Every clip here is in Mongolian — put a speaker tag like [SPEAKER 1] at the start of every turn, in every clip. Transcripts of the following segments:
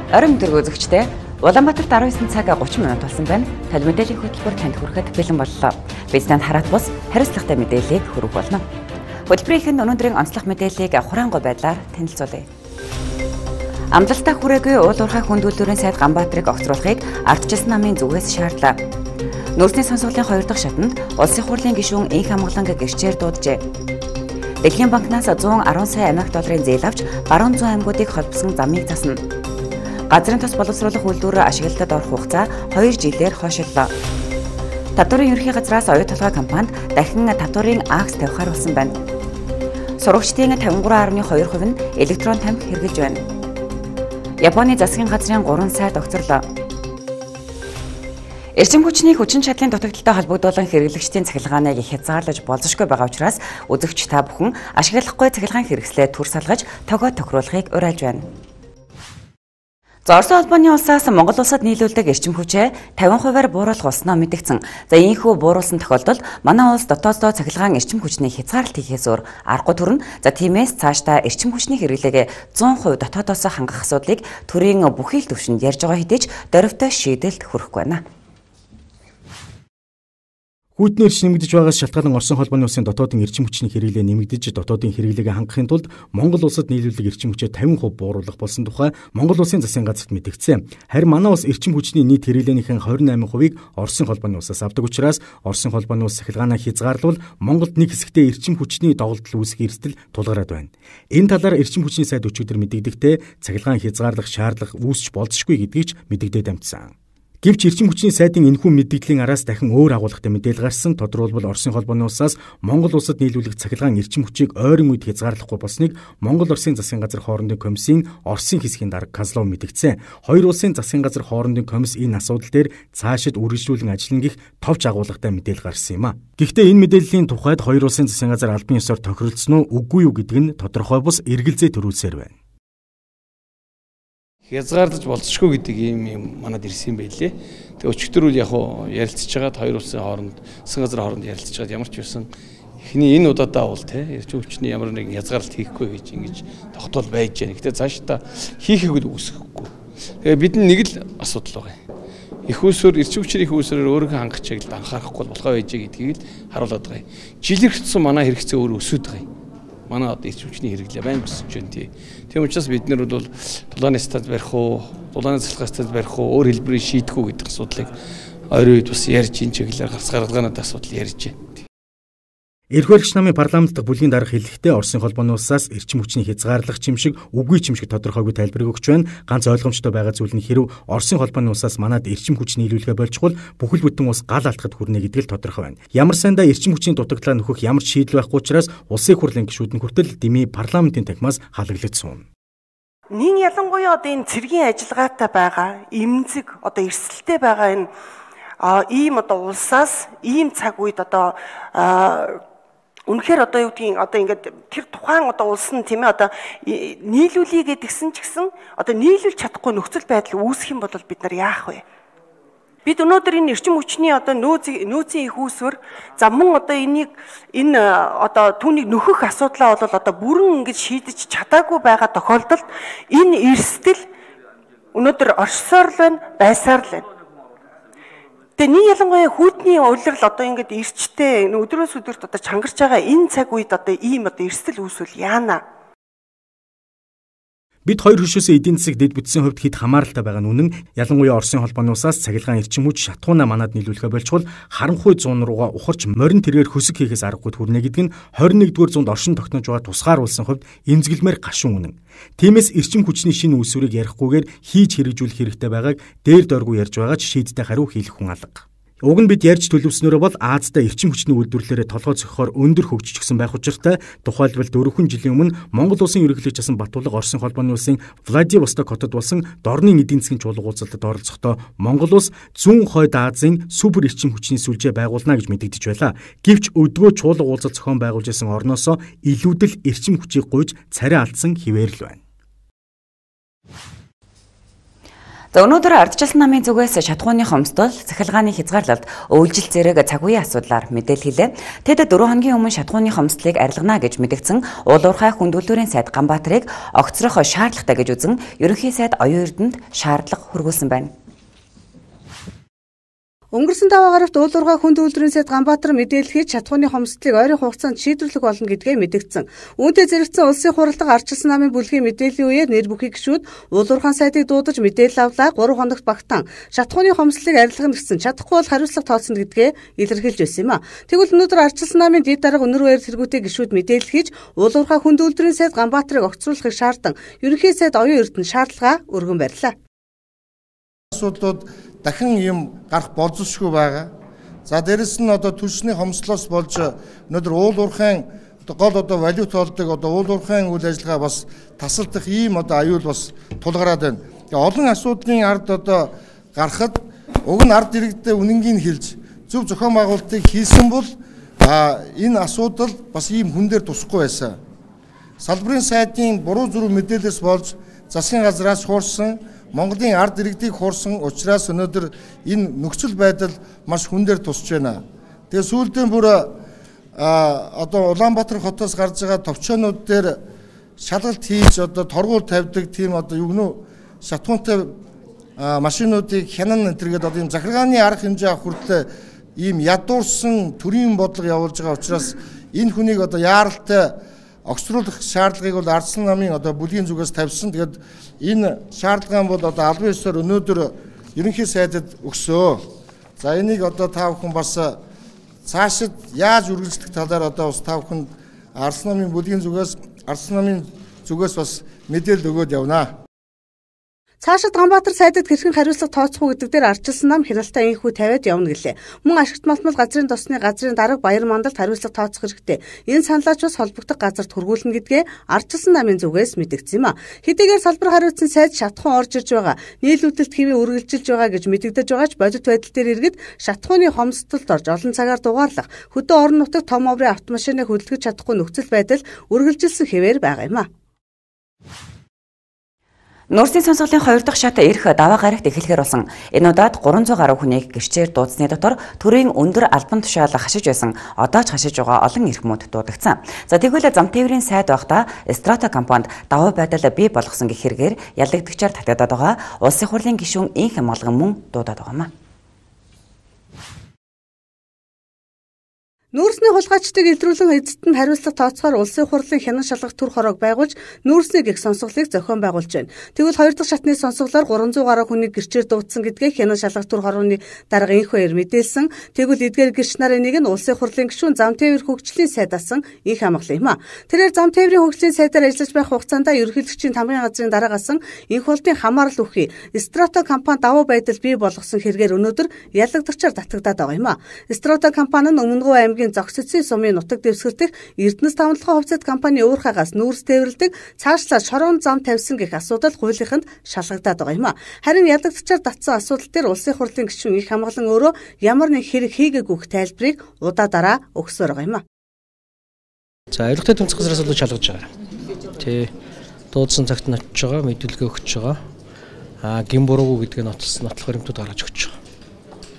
[SPEAKER 1] Орон мэдрэг үзэгчдээ Улаанбаатарт 19 цаг 30 минут болсон байна. Тал мэдээллийн хөтөлбөр танд хүрэхэд бэлэн боллоо. Бизнэс хараат бус хариуцлагатай мэдээллийг хүргэх болно. Хөтөлбөрийн өнөөдрийн онцлог мэдээллийг хураангуй байдлаар танилцуулъя. Амлалтаа хүрээгүй уул уурхай хүндүүлүүрийн сайд Ганбаатарыг огцруулахыг ардчилсан намын зүгээс шаардлаа. Нүүрсний сонсголын 2 дахь шатанд улсын хурлын гишүүн Инх Амгаланг гэрчээр дууджээ. Дэлхийн банкнаас 110 сая Америк долларын зээл авч баруун зүүн аймагуудыг холбосон замыг засна. Газрын тос боловсруулах үйлдвэр ашиглалтад орох хугацаа 2 жилээр хойшиллоо. Татварын ерөнхий газраас оюу толгой компанид дахин татварын акс тавихаар болсон байна. Сурагчдын 53.2% нь электрон тамхи хэрэглэж байна. Японы засгийн газрын 3 сайд огцорлоо. Эрчим хүчний хүчин чадлын дутагдaltaй холбогдуулан хэрэглэгчдийн цахилгааныг их хязгаарлаж болзошгүй байгаа учраас үзэгч та бүхэн ашиглахгүй цахилгаан хэрэгслээ төр салгаж тогоо тохируулахыг уриалж байна. Орсын холбооны улсаас Монгол улсад нийлүүлдэг эрчим хүчээ 50%-аар бууруулах болсноо мэдгдсэн. Ийхүү бууруулсан тохиолдолд манай улс дотооддоо цахилгаан эрчим хүчний хязгаарлалт хийхээс өөр аргагүй төрнө. Тиймээс цаашдаа эрчим хүчний хэрэглээгээ 100% дотоодоос хангах асуудлыг төрийн бүхий л түвшинд ярьж байгаа хэдий ч дөрвтэй шийдэлд хүрэхгүй байна.
[SPEAKER 2] Хүйтний эрч нэмэгдэж байгаас шалтгаалan Орсын холбооны улсын дотоодын эрчим хүчний хэрэглээ нэмэгдэж дотоодын хэрэглээгээ хангахын тулд Монгол улсад нийлүүлдэг эрчим хүчээ 50% бууруулах болсон тухай Монгол улсын засгийн газарт мэдгдсэн. Харин манай улс эрчим хүчний нийт хэрэглээнийхэн 28%-ийг Орсын холбооны улсаас авдаг учраас Орсын холбооны улс цахилгаанаа хязгаарлавал Монголд нэг хэсэгтээ эрчим хүчний доголдол үүсэх эрсдэл тулгараад байна. Энэ талаар эрчим хүчний сайд өчигдөр мэдэгдэхдээ цахилгаан хязгаарлах шаардлага үүсч болзошгүй гэдгийг ч мэдэгдээд амжсан. Гэвч эрчим хүчний сайдын энэхүү мэдээллийн араас дахин өөр агуулгатай мэдээлэл гарсан. Тодорхойлбол Орсын холбооны улсаас Монгол улсад нийлүүлэх цахилгаан эрчим хүчийг ойрын үед хязгаарлахгүй болсныг Монгол Оросын засгийн газар хоорондын комиссийн Оросын хэсгийн дарга Казлов мэдгдсэн. Хоёр улсын засгийн газар хоорондын комисс энэ асуудал дээр цаашид үргэлжлүүлэн ажиллана гэх товч агуулгатай мэдээлэл гарсан юм а. Гэхдээ энэ мэдээллийн тухайд хоёр улсын засгийн газар албан ёсоор тохиролцсон уу үгүй юу гэдэг нь тодорхой бус эргэлзээ төрүүлсээр байна.
[SPEAKER 3] Хязгаарлаж болцсохгүй гэдэг юм манад ирсэн байлээ. Тэгээ өчигдөр үл яг ярилцж байгаад хоёр улсын хооронд, засгийн газрын хооронд ярилцж байгаад ямар ч байсан эхний энэ удаадаа бол эрчим хүчний ямар нэгэн хязгаарлалт хийхгүй гэж ингэж тогтоол байж байна. Гэтэ цаашдаа хийхийг л үүсэхгүй. Тэгээ бид нэг л асуудал байгаа. Их усүр эрчим хүчний их усүрээр өөрийнхөө хангах чиглэлд анхаарахгүй болохоо байж гэдгийг л харуулдаг байгаа. Жилээр хэвчсэн манай хэрэгцээ өөр өсөд байгаа. Манай одоо эрчим хүчний хэрэглээ байна өсөж байна. Тийм учраас бид нар бол дулааны стад барих уу, дулааны цалхай стад барих уу, өөр хэлбэрээр шийдэх үү гэдэг асуудлыг ойрын үед бас ярьж энэ чиглэлээр гарц гаргалгаанууд асуудал ярьж байна.
[SPEAKER 2] Эрхвэрэгч намын парламент дахь бүлгийн дарга хэлэхдээ Оросын холбооны улсаас эрчим хүчний хязгаарлах чимшиг үгүй чимшиг тодорхойгүй тайлбарыг өгч байна. Ганц ойлгомжтой байгаа зүйл нь хэрэв Оросын холбооны улсаас манад эрчим хүч нийлүүлэхэ болчихвол бүхэл бүтэн улс гал алдахад хүрнэ гэдэг л тодорхой байна. Ямар сандаа эрчим хүчний дутагдлаа нөхөх ямар ч шийдэл байхгүй учраас улсын хурлын гишүүд нь хүртэл дэмий парламентын танхимаас халаглагдсан.
[SPEAKER 4] Нин ялангуяа одоо энэ цэргийн ажиллагаатай байгаа, эмзэг одоо эрсдэлтэй байгаа энэ ийм одоо улсаас ийм цаг үед одоо үнэхээр одоо юу гэдгийг одоо ингээд тэр тухайн одоо улс нь тийм ээ одоо нийлүүлээ гэдгсэн ч гэсэн одоо нийлүүлж чадахгүй нөхцөл байдал үүсэх юм бол бид нар яах вэ? Бид өнөөдөр энэ эрчим хүчний одоо нөөцийн их үүсвэр за мөн одоо энэ одоо түүнийг нөхөх асуудлаа бол одоо бүрэн ингэж шийдэж чадаагүй байгаа тохиолдолд энэ эрсдэл өнөөдөр оршсоор л байна, байсаар л байна. Тэгээ нэг ялангуяа хүйтний улирал одоо ингээд эрчтэй өдрөөс өдөрт одоо чангарч байгаа энэ цаг үед одоо ийм одоо эрсдэл үүсвэл яана.
[SPEAKER 2] Бид хоёр хөшөөсөө эдийн засаг дэд бүтцийн хувьд хэд хамааралтай байгаа нь үнэн. Ялангуяа Оросын холбооны улсаас цахилгаан эрчим хүч шатхуунаа манад нийлүүлэхэ болчвол харанхуй зуун руугаа ухарч морин тэргээр хөсөг хийхээс аргагүй хүрнэ гэдэг нь 21-р зуунд оршин тогтнож байгаа тусгаар улсын хувьд эмзэглэмээр гашуун үнэн. Тиймээс эрчим хүчний шинэ үүсвэрийг ярихгүйгээр хийж хэрэгжүүлэх хэрэгтэй байгааг дээр дойргүй ярьж байгаа ч шийдтэй хариу хийх хүн алга. Уг нь бид ярьж төлөвснөрөө бол Аазда эрчим хүчний үйлдвэрлэлээр толгой зохихоор өндөр хөгжижсэн байх учиртай тухайлбал 4 жилийн өмнө Монгол улсын ерөнхийлөгч асан Батулга Оросын холбооны улсын Владивосток хотод болсон дорны эдийн засгийн чуулга уулзалтад оролцохдоо Монгол улс зүүн хойд Азийн супер эрчим хүчний сүлжээ байгуулна гэж мэдэгдэж байлаа. Гэвч өдгөө чуулга уулзалт зохион байгуулж исэн орноосоо илүүдэл эрчим хүчийг гуйж царай алдсан хിവэр л байна.
[SPEAKER 1] За өнөөдөр ардчилсан намын зүгээс шатхууны хомсдол, цахилгааны хязгаарлалт, өвлжил зэрэг цаг үеийн асуудлаар мэдээлэлээ. Тэд 4 хоногийн өмнө шатхууны хомсдлыг арилгана гэж мэдгдсэн уул уурхай хүнд үйлдвэрийн сайд Ганбаатарыг огцрох шаардлагатай гэж үзэн ерөнхий сайд Оюун Эрдэнэт шаардлага хүргүүлсэн байна.
[SPEAKER 5] Өнгөрсөн 5 гарагт уул уурхай хүнд үйлдвэрийн сайд Ганбаатар мэдээлэл хийж шатхууны хомсдлыг ойрын хугацаанд шийдвэрлэх болно гэдгээ мэдгдсэн. Үүнтэй зэрэгцэн улсын хурлаг ардчилсан намын бүлгийн мэдээллийн үеэр нэр бүхий гишүүд уул уурхай сайдыг дуудаж мэдээлэл авлаа. 3 хоногт багтаан шатхууны хомсдлыг арилгана гэсэн чадахгүй бол хариуцлага тооцно гэдгээ илэрхийлж байсан юм а. Тэгвэл өнөөдөр ардчилсан намын дэд дарга өнөр баяр тэргүүтэй гишүүд мэдээлэл хийж уул уурхай хүнд үйлдвэрийн сайд Ганбаатарыг огцруулахыг шаардсан ерөнхий сайд Оюун Эрдэнэт шаардлага өргөн барьлаа.
[SPEAKER 6] Асуудлууд дахин юм гарах болзошгүй байгаа. За дээрэс нь одоо түлшний хомслоос болж өнөөдөр уул уурхайн гол одоо валют болдог одоо уул уурхайн үйл ажиллагаа бас тасалдах ийм одоо аюул бас тулгараад байна. Тэгээ олон асуудлын ард одоо гарахад уг нь ард иргэдэд үнэнгийг хэлж зөв зохион байгуулалтыг хийсэн бол энэ асуудал бас ийм хүн дээр тусахгүй байсан. Салбарын сайдын буруу зүрх мэдээлэлс болж засгийн газраас хуурсан Монголын ард иргэдийг хуурсан учраас өнөөдөр энэ нөхцөл байдал маш хүн дээр тусч байна. Тэгээ сүүлдээ бүр одоо Улаанбаатар хотоос гарч байгаа товчоонууд дээр шалгалт хийж одоо торгуул тавьдаг тийм одоо югнөө шатхуунтай машинуудыг хянан энтергээд одоо ийм захиргааны арга хэмжээ авах хүртэл ийм ядуурсан төрийн бодлого явуулж байгаа учраас энэ хүнийг одоо яаралтай огцруулах шаардлагыг бол ардчилсан намын одоо бүлгийн зүгээс тавьсан. Тэгээд энэ шаардлага бол одоо албан ёсоор өнөөдөр ерөнхий сайдад өгсөө. За энийг одоо та бүхэн бас цаашид яаж үргэлжлэх талаар одоо бас та бүхэнд ардчилсан намын бүлгийн зүгээс бас мэдээлэл өгөөд явнаа.
[SPEAKER 5] Цаашид Ганбаатар сайдад хэрхэн хариуцлага тооцох уу гэдэг дээр ардчилсан нам хяналтаа инхүү тавиад явна гэлээ. Мөн ашигт малтмал газрын тосны газрын дарга баяр мандалд хариуцлага тооцох хэрэгтэй. Энэ саналаач бас холбогдох газарт хүргүүлнэ гэдгээ ардчилсан намын зүгээс мэдгдсэн юм а. Хэдийгээр салбар хариуцсан сайд шатхуун орж ирж байгаа, нийлүүлэлт хэвээ үргэлжилж байгаа гэж мэдэгдэж байгаач бодит байдал дээр иргэд шатхууны хомсдолд орж олон цагаар дугаарлах, хөдөө орон нутагт том оврын автомашиныг хөдөлгөж чадахгүй нөхцөл байдал үргэлжилсэн хэвээр байгаа юм а.
[SPEAKER 1] Нүүрсийн сонсголын 2 дахь шат ирэх даваа гарагт эхлэхээр болсон. Энэ удаад 300 гаруй хүнийг гэрчээр дуудсны дотор төрийн өндөр албан тушаал хашиж байсан. Одоо ч хашиж байгаа олон эрхмүүд дуудагдсан. За тэгвэл зам тээврийн сайд байхдаа Страто компанид даваа байдал бий болгосон гэх хэрэгээр ялагдагчаар татагдаад байгаа. Улсын хурлын гишүүн Инх Амгалан мөн дуудаад байгаа юм.
[SPEAKER 5] Нүүрсний хулгайчдыг илрүүлэн эзэд нь хариуцлага тооцохоор улсын хурлын хянан шалгах төр хороог байгуулж нүүрсний гих сонсголыг зохион байгуулж байна. Тэгвэл 2 дахь шатны сонсголоор 300 гаруй хүнийг гэрчээр дуудсан гэдгээ хянан шалгах төр хорооны дарга Инх баяр мэдээлсэн. Тэгвэл эдгээр гэрч нарын нэг нь улсын хурлын гишүүн зам тээвэр хөгжлийн сайд асан Инх Амгалан юм а. Тэрээр зам тээврийн хөгжлийн сайдаар ажиллаж байх хугацаанд ерөнхийлөгчийн тамгын газрын дараагасан Инх болтын хамаарал үхий Страто компани давуу байдал бий болгосон хэрэгээр өнөөдөр ялагдагчаар татагдаад байгаа юм а. Страто компани нь Өмнөгов аймгийн зогсцын сумын нутаг дэвсгэрдэх Эрдэнэс тавталгын хувьцат компани уурхаагаас нүүрс тээвэрлдэг цаашлаа шорон зам тавьсан гэх асуудал хуулийнханд шалгагдаад байгаа юм а. Харин ялагдагчаар татсан асуудал дээр улсын хурлын гишүүн Инх Амгалан өөрөө ямар нэг хэрэг хийгээгүйх тайлбарыг удаа дараа өгсөөр байгаа юм а.
[SPEAKER 7] За ойлгохтой тэмцэх газраас л шалгаж байгаа. Тэ дуудсан цагт нь очиж байгаа, мэдүүлгээ өгч байгаа. Гин буруугүй гэдгээ нотлох баримтууд гаргаж өгч байгаа.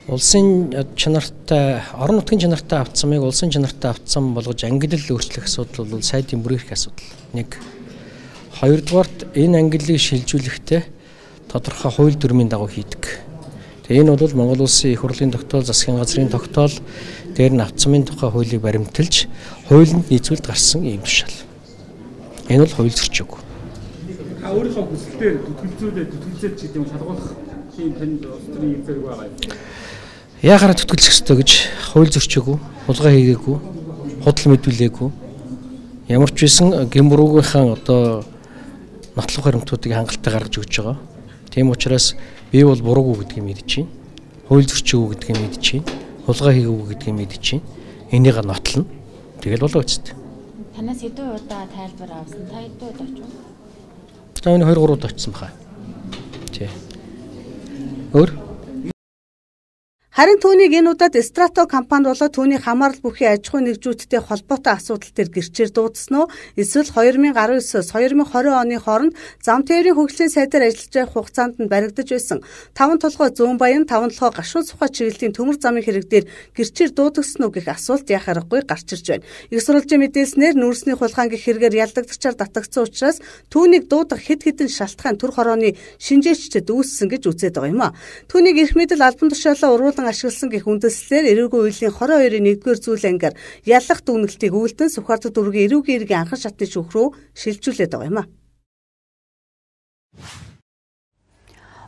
[SPEAKER 7] Улсын чанартай, орон нутгийн чанартай автсамыг улсын чанартай автсам болгож ангиллал өөрчлөх асуудал бол сайдын бүр их асуудал. 1. 2 дугаарт энэ ангиллыг шилжүүлэхдээ тодорхой хууль дүрмийн дагуу хийдэг. Тэгээ энэ бол Монгол Улсын их хурлын тогтоол, засгийн газрын тогтоол дээр нь автсамын тухай хуулийг баримталж хуулинд нийцүүлд гарсан ийм тушаал. Энэ бол хууль зөрчиг.
[SPEAKER 8] Өөрийнхөө хүсэлтээр зүтгэлзээд ч гэдэг юм шалгуулах тийм танд улс төрийн зэрэг байгаа юм.
[SPEAKER 7] Яагаад зүтгэлцэх ёстой гэж хууль зөрчөөгүй, хулгай хийгээгүй, худал мэдүүлээгүй. Ямар ч байсан гин буруугийнхаа одоо нотлох баримтуудыг хангалттай гаргаж өгч байгаа. Тийм учраас би бол буруугүй гэдгийг мэдэж байна. Хууль зөрчөөгүй гэдгийг мэдэж байна. Хулгай хийгээгүй гэдгийг мэдэж байна. Энийг нотлно. Тэгэл болоо үсттэй.
[SPEAKER 9] Танаас хэдэн удаа тайлбар авсан? Та хэдэн удаа очив?
[SPEAKER 7] За энэ 2-3 удаа очсон баха. Тий. Өөр
[SPEAKER 5] Харин түүнийг энэ удаад Страто компани болоод түүний хамаарал бүхий аж ахуй нэгжүүдтэй холбоотой асуудал төр гэрчээр дуудсан уу? Эсвэл 2019-с 2020 оны хооронд зам тээврийн хөгжлийн сайдаар ажиллаж байх хугацаанд нь баригдаж байсан 5 толгой зүүн баян 5 толгой гашуун сухай чиглэлийн төмөр замын хэрэг дээр гэрчээр дуудагсан уу гэх асуулт яах аргагүй гарч ирж байна. Их сурвалжийн мэдээлснээр нүүрсний хулгайн гэх хэрэгээр ялдагдчихаар татагдсан учраас түүнийг дуудах хэд хэдэн шалтгаан төр хорооны шинжээчдэд үүссэн гэж үзээд байгаа юм а. Түүнийг эрх мэдэл албан тушаалаа уруулан ашигласан гэх үндэслэлээр эрүүгийн үеийн 22-ийн 1-р зүйл ангиар ялах дүгнэлтийг үйлдэн Сүхбаатар дүүргийн эрүүгийн иргэн анхан шатны шүүх рүү шилжүүлээд байгаа юм а.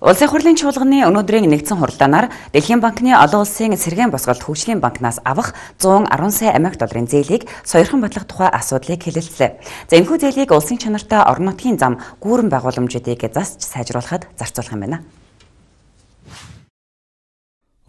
[SPEAKER 1] Улсын хурлын чуулганы өнөөдрийн нэгдсэн хуралдаанаар Дэлхийн банкны олон улсын сэргээн босголт хөгжлийн банкнаас авах 110 сая Америк долларын зээлийг сойрхон батлах тухай асуудлыг хэлэлцлээ. За энэхүү зээлийг улсын чанартай орон нутгийн зам гүүрэн байгууламжуудыг засч сайжруулахад зарцуулах юм байна.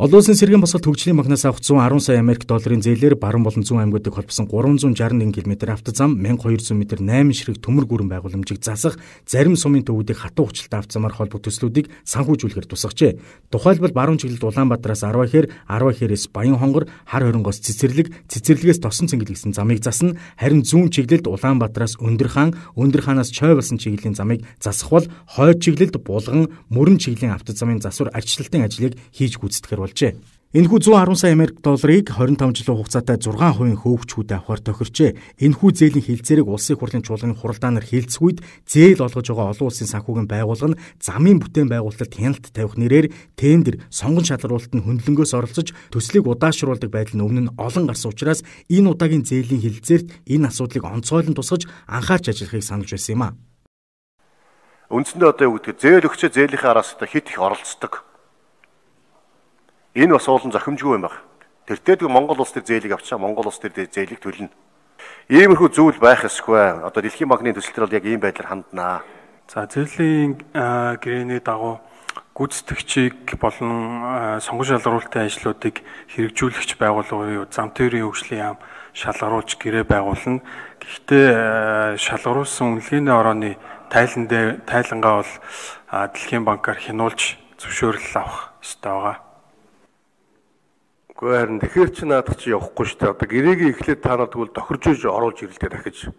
[SPEAKER 2] Олон улсын сэргээн босголт хөгжлийн банкнаас авах 110 сая Америк долларын зээлээр Баруун болон Зүүн аймагуудыг холбосон 361 км автозам, 1200 м 8 ширхэг төмөр гүүрэн байгууламжийг засах, зарим сумын төвүүдийг хатуу хүчилтэй автозамаар холбох төслүүдийг санхүүжүүлэхээр тусгажээ. Тухайлбал Баруун чиглэлд Улаанбаатараас 10 хэр, 10 хээрээс Баян хонгор, Хар хорингоос Цэцэрлэг, Цэцэрлэгээс Тосон цэнгэл гэсэн замыг засна. Харин Зүүн чиглэлд Улаанбаатараас Өндөрхаан, Өндөрхаанаас Чой болсон чиглэлийн замыг засах бол Хойд чиглэлд Булган, Мөрөн чиглэлийн автозамын засвар арчилтын ажлыг хийж гүйцэтгэхээр болжээ. Энэхүү 110 сая Америк долларыг 25 жилийн хугацаатай 6% хөөгчхүүдэд авахар тохирчээ. Энэхүү зээлийн хилцээрийг улсын хурлын чуулганы хуралдаанаар хэлцэх үед зээл олгож байгаа олон улсын санхүүгийн байгууллага нь замын бүтээн байгуулалтад хяналт тавих нэрээр тендер, сонгон шалгаруулалт нь хөндлөнгөөс оролцож төслийг удаашруулдаг байдал нь өмнө нь олон гарсан учраас энэ удаагийн зээлийн хилцээрт энэ асуудлыг онцгойлон тусгаж анхаарч ажиллахыг сануулж байсан юм а.
[SPEAKER 10] Үндсэндээ одоо юу гэдэг зээл өгчөө зээлийнхээ араас хит их оролцдог. Энэ бас уулын зохимжгүй юм байна. Тэртээ Монгол улс төр зээлийг авчаа Монгол улс төр зээлийг төлнө. Иймэрхүү зүйл байх ёсгүй. Одоо Дэлхийн банкны төсөл төр бол яг ийм байдлаар ханднаа.
[SPEAKER 11] За зээлийн гэрээний дагуу гүйцэтгэгчийг болон сонгон шалгаруулалтын ажлуудыг хэрэгжүүлэгч байгууллагын зам тээврийн хөгжлийн яам шалгаруулж гэрээ байгуулна. Гэхдээ шалгаруулсан үнэлгээний орооны тайлангаа бол Дэлхийн банкаар хянуулж зөвшөөрөл авах ёстой байгаа.
[SPEAKER 10] Харин тэгэхээр чи наадах чи явахгүй шүү дээ. Одоо гэрээгээ эхлээд та нар тэгвэл тохирж оруулж ирэлтэй дахиж.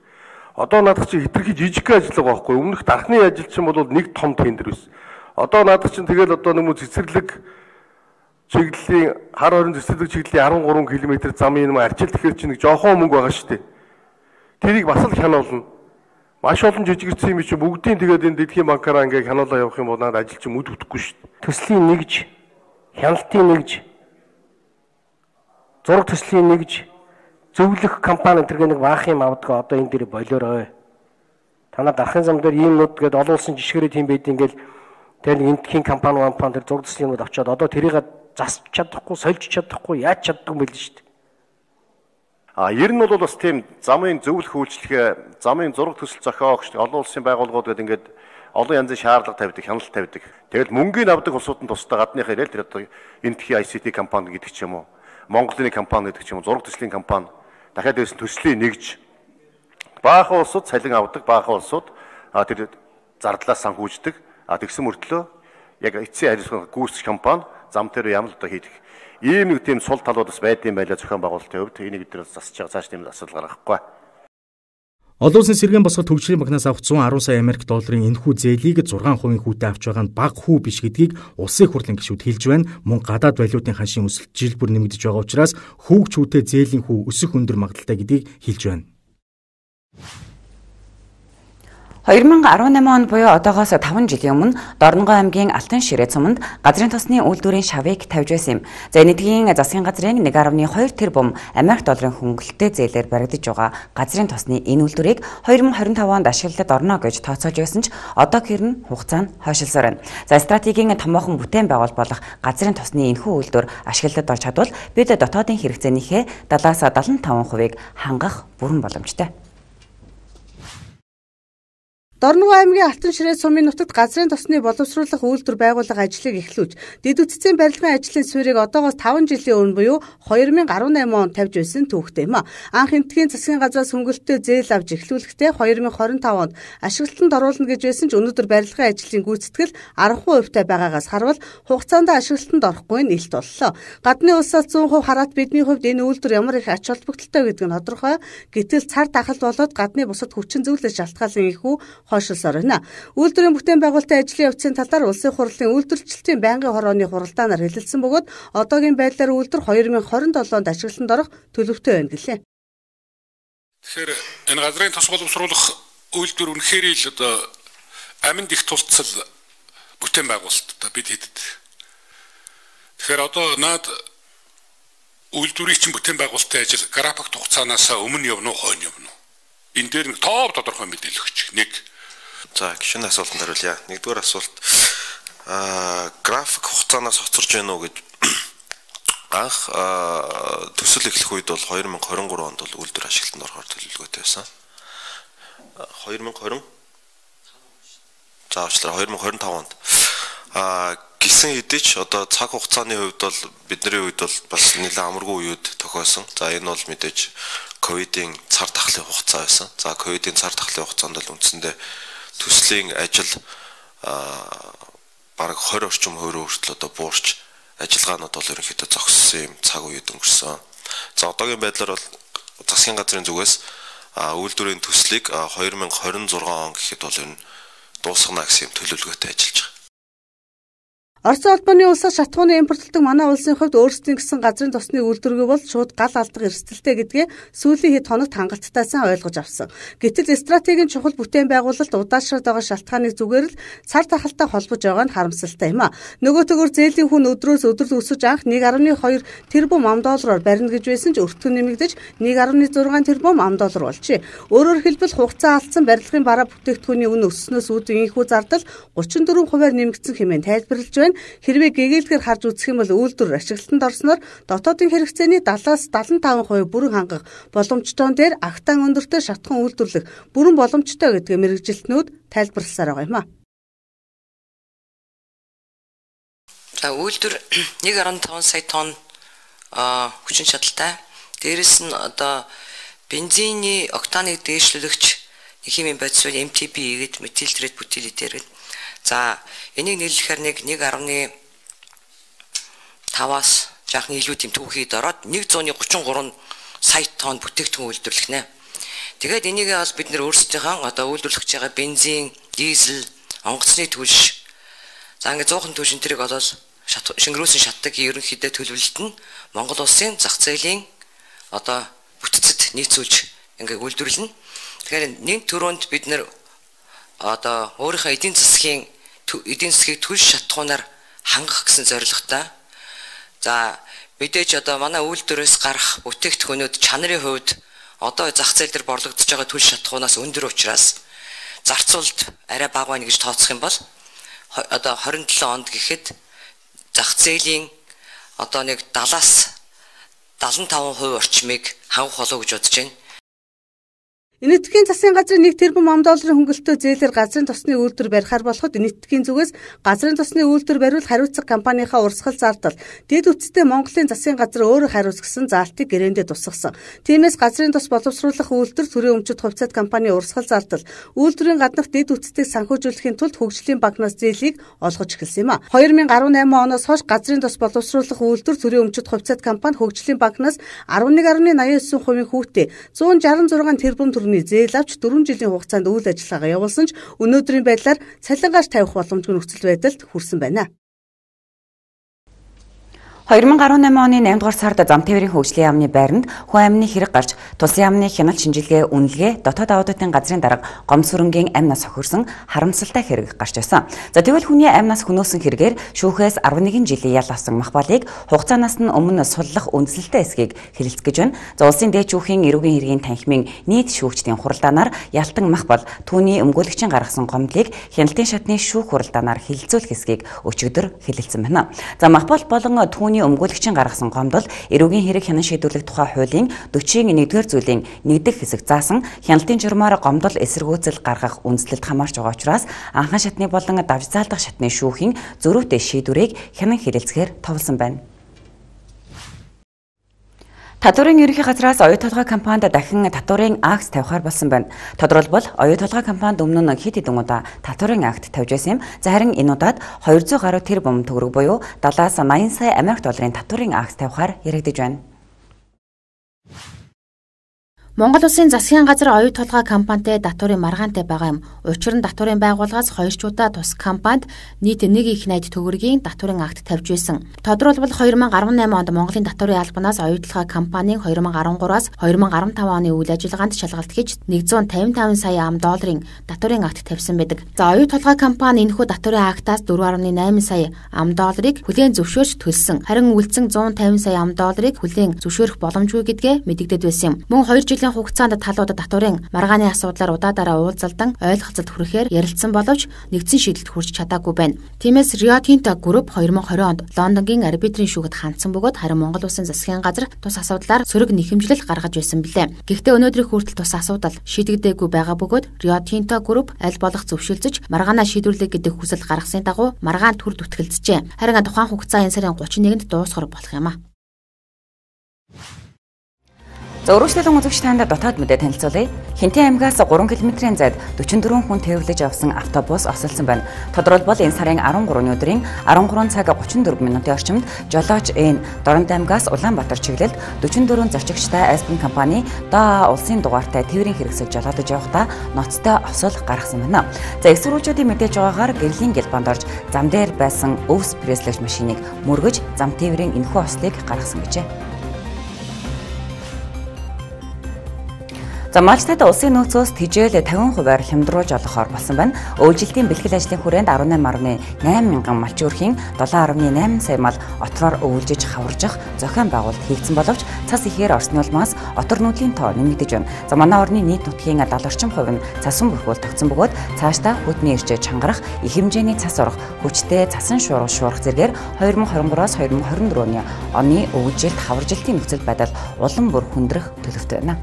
[SPEAKER 10] Одоо наадах чи хитрхи жижиг ажиллагаа байхгүй. Өмнөх дархны ажил чинь бол нэг том тендер байсан. Одоо наадах чинь тэгэл одоо нэмүү цэцэрлэг чиглэлийн хар хорин цэцэрлэг чиглэлийн 13 км замын юм арчил тэгэхээр чи нэг жоохон мөнгө байгаа шүү дээ. Тэрийг бас л хянуулна. Маш олон жижигэрсэн юм чи бүгдийн тэгээд энэ Дэлхийн банкаараа ингээ хянуулаа явах юм бол надад ажил чинь үд өгөхгүй шүү дээ.
[SPEAKER 7] Төслийн нэгж, хяналтын нэгж, зураг төслийн нэгж, зөвлөх компани тэргээ нэг баах юм авдаг одоо энэ дээр болоорой. Танаа дарахын зам дээр ийм нүд гээд олон улсын жишгээрээ тийм байд ингээл тэр нэг энтхийн компани тэр зураг төслийн нүд авчаад одоо тэрийг засч чадахгүй, сольж чадахгүй, яаж чаддаг юм бэ шүү дээ.
[SPEAKER 10] Ер нь бол бас тийм замын зөвлөх үйлчлэгээ, замын зураг төсөл зохиогч олон улсын байгууллагууд гэдэг ингээд олон янзын шаардлага тавьдаг, хяналт тавьдаг. Тэгэл мөнгөний авдаг улсуудын тусдаа гадныхаа ирэл тэр одоо энтхийн ICT компани гэдэг ч юм уу. Монголын компани гэдэг ч юм уу, зураг төслийн компани дахиад байсан төслийн нэгж баахан улсууд цалин авдаг, баахан улсууд тэр зардлаас санхүүждэг. Тэгсэн мөртлөө яг эцсийн хариуцлага гүйцэтгэх компани зам дээр ямар л одоо хийдэг. Ийм нэг тийм сул талууд бас байдсан байлаа зохион байгуулалтын хувьд. Энийг эдгээр засаж байгаа цааш тийм асуудал гаргахгүй.
[SPEAKER 2] Олон улсын сэргээн босголт хөгжлийн банкнаас авах 110 сая Америк долларын энэхүү зээлийг 6% хүүтэй авч байгаа нь бага хүү биш гэдгийг улсын хурлын гишүүд хэлж байна. Мөн гадаад валютын ханшийн өсөлт жил бүр нэмэгдэж байгаа учраас хүүгч хүүтэй зээлийн хүү өсөх өндөр магадaltaй гэдгийг хэлж байна.
[SPEAKER 1] 2018 онд буюу одоогоос 5 жилийн өмнө Дорнонгой аймгийн Алтан ширээ цуманд газрын тосны үйлдвэрийн шавыг тавьж байсан юм. За энэтхийн засгийн газрын 1.2 тэрбум Америк долларын хөнгөлөлттэй зээлээр баригдаж байгаа газрын тосны энэ үйлдвэрийг 2025 онд ашиглалтад орно гэж тооцоолж байсан ч одоо хэрн хугацаа нь хойшилсоор байна. За стратегийн томоохон бүтээн байгуул болох газрын тосны энэхүү үйлдвэр ашиглалтад орж чадвал бид дотоодын хэрэгцээнийхээ 70-75%-ийг хангах бүрэн боломжтой.
[SPEAKER 5] Дорногов аймгийн Алтан ширээ сумын нутагт газрын тосны боловсруулах үйлдвэр байгуулах ажлыг эхлүүлж, дэд үтцийн барилгын ажлын суурийг одоогоос 5 жилийн өмнө буюу 2018 онд тавьж байсан түүхтэй юм. Анх энтхийн засгийн газраас хөнгөлөлтөө зээл авч эхлүүлэхдээ 2025 онд ашиглалтанд оруулна гэж байсан ч өнөөдөр барилгын ажлын гүйцэтгэл 10% байгаагаас харвал хугацаанд ашиглалтанд орохгүй нь илт боллоо. Гадны улсаас 100% хараат бидний хувьд энэ үйлдвэр ямар их ач холбогдолтой гэдэг нь тодорхой. Гэтэл цар тахалт болоод гадны бусад хүчин зүйлээс шалтгаалan ихүү хойшилсоор байна. Үйлдвэрийн бүтээн байгуулалтын ажлын явцын талаар улсын хурлын үйлдвэрчлэлтийн байнгын хорооны хуралдаанаар хэлэлцсэн бөгөөд одоогийн байдлаар үйлдвэр 2027 онд ашиглалтанд орох төлөвтэй байна гэлээ.
[SPEAKER 12] Тэгэхээр энэ газрын тос боловсруулах үйлдвэр үнэхээр л одоо аминд их тулцал бүтээн байгуулалтаа бид хийдэг. Тэгэхээр одоо наад үйлдвэрийн чинь бүтээн байгуулалтын ажил график хугацаанаас өмнө явна уу, хойно явна уу? Энэ дээр нэг тоо тодорхой мэдээлэл өгч. Нэг.
[SPEAKER 13] За гişүн асуултанд хариулъя. Нэгдүгээр асуулт график хугацаанаас хоцорж байна уу гэж анх төсөл эхлэх үед бол 2023 онд бол үйлдвэр ашиглалтанд орохоор төлөвлөгөөтэй байсан. 2020 заавчлаар 2025 онд гисэн хэдий ч одоо цаг хугацааны хувьд бол бидний үед бол бас нэлээд амаргүй үед тохиосон. За энэ бол мэдээж ковидын цар тахлын хугацаа байсан. За ковидын цар тахлын хугацаанд бол үндсэндээ төслийн ажил бараг 20 орчим хувиар хүртэл одоо буурч ажиллагаанууд бол ерөнхийдөө зогссон юм цаг үед өнгөрсөн. За одоогийн байдлаар бол засгийн газрын зүгээс үйлдвэрийн төслийг 2026 он гэхэд бол энэ дуусгана гэсэн төлөвлөгөөтэй ажиллаж байгаа.
[SPEAKER 5] Орос улбаны улсаас шатгууны импортлдог манай улсын хувьд өөрсдийн гэсэн газрын тосны үйлдвэргүй бол шууд гал алдах эрсдэлтэй гэдгээ сүүлийн хэд хоногт хангалттай сайн ойлгож авсан. Гэтэл стратегийн чухал бүтээн байгуулалт удаашраад байгаа шалтгааныг зүгээр л цар тахалтай холбож байгаа нь харамсалтай юм а. Нөгөө төгөр зээлийн хүн өдрөөс өдөрт өсөж анх 1.2 тэрбум $, барина гэж байсан ч өртөө нэмэгдэж 1.6 тэрбум $, болжээ. Өөрөөр хэлбэл хугацаа алдсан барилгын бараа бүтээгдэхүүний үнэ өссөнөөс үүдэн инхүү зардал 34% нэмэгдсэн хэмээн тайлбарлаж байна. Хэрвээ гэгээлгээр харж үзэх юм бол үйлдвэр ашиглалтанд орсноор дотоодын хэрэгцээний 70-75% бүрэн хангах боломжтой дээр агтаан өндөртэй шатхан үйлдвэрлэх бүрэн боломжтой гэдгээ мэргэжилтнүүд тайлбарласаар байгаа юм а.
[SPEAKER 14] За үйлдвэр 1.5 сая тонн хүчин чадалтай. Дээрэс нь одоо бензиний октаныг дээшлүүлэгч химийн бодис MTB гэдэг метил трет бутил этер гэдэг. За энийг нийлүүлэхээр 1.5-аас жаахан илүү тийм түүхийд ороод 133 сая тонн бүтээгдэхүүн үйлдвэрлэх нэ. Тэгээд энийг бас бид нэр өөрсдийнхөө одоо үйлдвэрлэж байгаа бензин, дизель, онгоцны түлш. За ингээд 100хан түлш энтрийг олол шингэрүүлсэн шатдаг ерөнхийдөө төлөвлөлт нь Монгол улсын зах зээлийн одоо бүтцэд нийцүүлж ингээд үйлдвэрлэнэ. Тэгэхээр нэг төрөнд бид нэр одоо өөрийнхөө эдийн засгийн түлш шатхуунаар хангах гэсэн зорилготой. За мэдээж одоо манай үйлдвэрээс гарах бүтээгдэхүүнүүд чанарын хувьд одоо зах зээл дээр борлогдож байгаа түлш шатхуунаас өндөр учраас зарцуулалт арай бага байна гэж тооцох юм бол одоо 27 онд гэхэд зах зээлийн одоо нэг 70-аас 75% орчмыг хангах болов гэж бодож байна.
[SPEAKER 5] Энэтхэгийн засгийн газрын 1 тэрбум $, хөнгөлөлтөө зээлээр газрын тосны үйлдвэр барихаар болоход энэтхэгийн зүгээс газрын тосны үйлдвэр бариул хариуцах компанийнхаа урсгал зардал дэд үтцтэй Монголын засгийн газар өөрөө хариуц гэсэн заалтыг гэрээндээ тусгасан. Тиймээс газрын тос боловсруулах үйлдвэр төрийн өмчит хувьцаат компани урсгал зардал үйлдвэрийн гаднах дэд үтцтэйг санхүүжүүлэхийн тулд хөгжлийн банкнаас зээлийг олгож эхэлсэн юм а. 2018 оноос хойш газрын тос боловсруулах үйлдвэр төрийн өмчит хувьцаат компани хөгжлийн банкнаас 11.89% хүүтэй 166 тэрбум төгрөг зээл авч 4 жилийн хугацаанд үйл ажиллагаа явуулсан ч өнөөдрийн байдлаар цалингааш тавих боломжгүй нөхцөл байдалд хүрсэн байна.
[SPEAKER 1] 2018 оны 8 дугаар сард Замтээврийн хөгжлийн яамны байранд хүн амны хэрэг гарч тусын яамны хяналт шинжилгээ үнэлгээ дотоод аудитын газрын дарга Гомсүрэнгийн амнаас хохирсон харамсалтай хэрэг гарч байсан. За тэгвэл хүний амнаас хөнөөсөн хэрэгээр шүүхээс 11 жилийн ял авсан Махбалыг хугацаанаас нь өмнө суллах үндсэлтэй эсхийг хэлэлцэж гэж байна. За улсын дээд шүүхийн эрүүгийн хэргийн танхимын нийт шүүгчдийн хуралдаанаар Ялтан Махбал түүний өмгөөлөгчийн гаргасан гомдлыг хяналтын шатны шүүх хуралдаанаар хэлэлцүүлэх эсхийг өчигдөр хэлэлцсэн байна. За Махбал болон хүний өмгөөлөгчийн гаргасан гомдол эрүүгийн хэрэг хянан шийдвэрлэх тухай хуулийн 41-р зүйлийн 1-р хэсэг заасан хяналтын журмаар гомдол эсэргүүцэл гаргах үндслэлд хамаарч байгаа учраас анхан шатны болон давж заалдах шатны шүүхийн зөрүүтэй шийдвэрийг хянан хэлэлцэхээр товлсон байна. Татварын ерөнхий газраас оюу толгой компанид дахин татварын акт тавихаар болсон байна. Тодорхойлбол оюу толгой компанид өмнө нь хэд хэдэн удаа татварын акт тавьж байсан юм. За харин энэ удаад 200 гаруй тэрбум төгрөг буюу 70-аас 80 сая Америк долларын татварын акт тавихаар яригдж байна.
[SPEAKER 9] Монгол Улсын засгийн газар оюу толгой компанитай татварын маргаантай байгаа юм. Учир нь татварын байгууллагаас 2 чуудаа тус компанид нийт 1 их найд төгрөгийн татварын акт тавьж байсан. Тодорхойлбол 2018 онд Монголын татварын албанаас оюу толгой компанийн 2013-аас 2015 оны үйл ажиллагаанд шалгалт хийж 155 сая $1 татварын акт тавьсан байдаг. За оюу толгой компани энэхүү татварын актаас 4.8 сая $1-ыг хүлээн зөвшөөрч төлсөн. Харин үлдсэн 150 сая $1-ыг хүлээн зөвшөөрөх боломжгүй гэдгээ мэдэгдээд байсан юм. Мөн 2 жилийн хугацаанд талуудад татварын маргааны асуудлаар удаадараа уулзалдан ойлголцолд хүрэхээр ярилцсан боловч нэгдсэн шийдэлд хүрч чадаагүй байна. Тиймээс Rio Tinto Group 2020 онд Лондонгийн арбитрийн шүүхэд хандсан бөгөөд харин Монгол Улсын засгийн газар тус асуудлаар сөрөг нэхэмжлэл гаргаж байсан билээ. Гэхдээ өнөөдрийн хүртэл тус асуудал шийдэгдээгүй байгаа бөгөөд Rio Tinto Group аль болох зөвшөөрөлж маргаанаа шийдвэрлэх гэдэг хүсэл гаргасны дагуу маргаан төр дүтгэлцжээ. Харин тухайн хугацаа энэ сарын 31-нд дуусгах болох юм а.
[SPEAKER 1] За өргөжлөлөн үзэгч танд дотоод мэдээ танилцуулъя. Хинтэн аймгаас 3 км-ийн зайд 44 хүн тэрвэрлэж авсан автобус осолсон байна. Тодорхойлбол энэ сарын 13-ны өдрийн 13 цаг 34 минутын орчимд жолооч Н Дорнод аймгаас Улаанбаатар чиглэлд 44 зорчигчтай Аспен компани ДА улсын дугаартай тээврийн хэрэгсэл жолоодож явахдаа ноцтой осол гаргасан байна. За эксрүүчүүдийн мэдээж байгаагаар гэрлийн гэлбанд орж зам дээр байсан өвс пресслэгч машиныг мөргөж зам тээврийн энэхүү ослыг гаргасан гэжээ. За Малчтад улсын нөөцөөс тижээл 50%-аар хямдруулж олгохоор болсон байна. Өвжилтийн бэлтгэл ажлын хүрээнд 18.8 мянган малчин өрхийн 7.8 сая мал отроор өвөлжиж хаваржих зохион байгуулалт хийгдсэн боловч цас ихээр орсны улмаас отор нүүдлийн тоо нэмэгдэж байна. За манай орны нийт нутгийн 70 орчим хувь нь цасан бүрхүүл тогтсон бөгөөд цаашдаа хөдний ирчээ чангарах, их хэмжээний цас орох, хүчтэй цасан шуурах зэргээр 2023-аас 2024 оны өвөлжилт хаваржилтын нөхцөл байдал улам бүр хүндрэх төлөвтэй байна.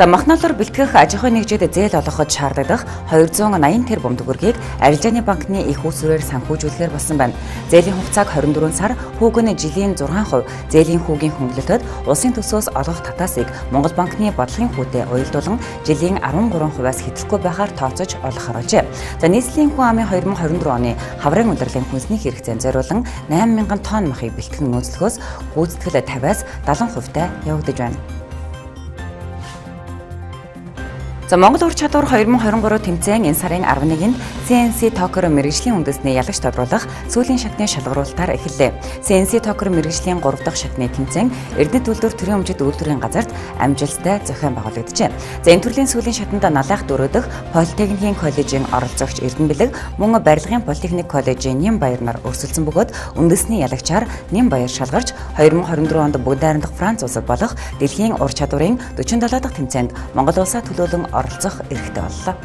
[SPEAKER 1] За махналаар бэлтгэх аж ахуйн нэгжид зээл олгоход шаардлагах 280 тэрбум төгрөгийг Арилжааны банкны их усүрээр санхүүжүүлэхээр болсон байна. Зээлийн хугацааг 24 сар, хүүг нь жилийн 6%, зээлийн хүүгийн хөнгөлөлтөд улсын төсөөс олгох татаасыг Монгол банкны бодлогын хүүтэд уялдуулан жилийн 13%-аас хэтрэхгүй байхаар тооцож олох харуулжээ. За нийслэлийн хүн амын 2024 оны хаврын улирлын хүнсний хэрэгцээнд зориулан 8000 тонн махыг бэлтгэх нөөцлөхөөс гүйцэтгэл 50-аас 70% явагдаж байна. За Монгол ур чадвар 2023 тэмцээн энэ сарын 11-нд CNC Токер мэргэжлийн үндэсний ялагч тодруулах сүүлийн шатны шалгаруулалтаар эхэллээ. CNC Токер мэргэжлийн 3 дахь шатны тэмцээн Эрдэнэт үйлдвэр төрийн өмчит үйлдвэрийн газарт амжилттай зохион байгуулагдажээ. За энэ төрлийн сүүлийн шатанд Налайх 4 дахь Политехникийн коллежийн оролцогч Эрдэнэ Бэлэг мөн Барилгын Политехник коллежийн Нямбаяр нар өрсөлдсөн бөгөөд үндэсний ялагчаар Нямбаяр шалгарч 2024 онд бүгд найрамдах Франц улсад болох дэлхийн ур чадварын 47 дахь тэмцээнд Монгол улсаа төлөөлөн оролцох эрхтэй боллоо.